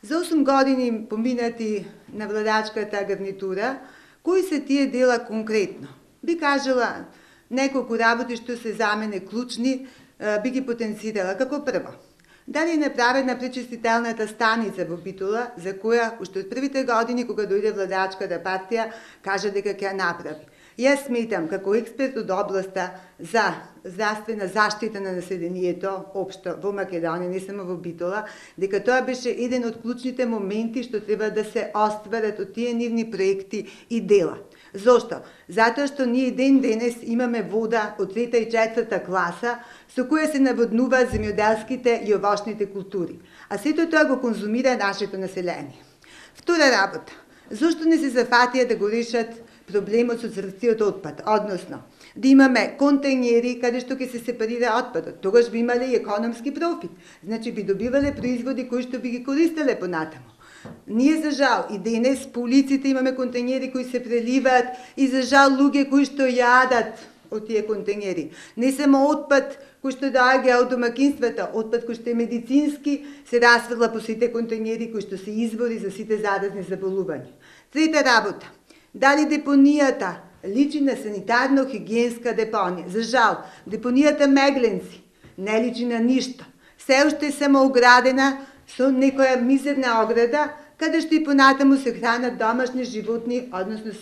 За 8 години поминати на владачката гарнитура, кои се тие дела конкретно? Би кажала неколку работи што се за мене клучни, би ги потенцирала. Како прво, дали е направена пречистителната станица во Битола, за која уште од првите години кога дојде владачката партија кажа дека ќе ја направи. Јас сметам како експерт од областа за здравствена заштита на населението општо во Македонија, не само во Битола, дека тоа беше еден од клучните моменти што треба да се остварат од тие нивни проекти и дела. Зошто? Затоа што ние ден денес имаме вода од 3-та и 4-та класа со која се наводнуваат земјоделските и овошните култури, а сето тоа го конзумира нашето население. Втора работа, зошто не се зафатија да го решат проблемот со црвстиот отпад, односно да имаме контејнери каде што ќе се сепарира отпадот. Тогаш би имале и економски профит. Значи би добивале производи кои што би ги користеле понатаму. Ние за жал и денес по улиците имаме контејнери кои се преливаат и за жал луѓе кои што јадат од тие контејнери. Не само отпад кој што доаѓа од домакинствата, отпад кој што е медицински се расфрла по сите контејнери кои што се извори за сите заразни заболувања. Трета работа, дали депонијата личи на санитарно-хигиенска депонија? За жал, депонијата Мегленци не личи на ништо. Се уште е само оградена со некоја мизерна ограда, каде што и понатаму се хранат домашни животни, односно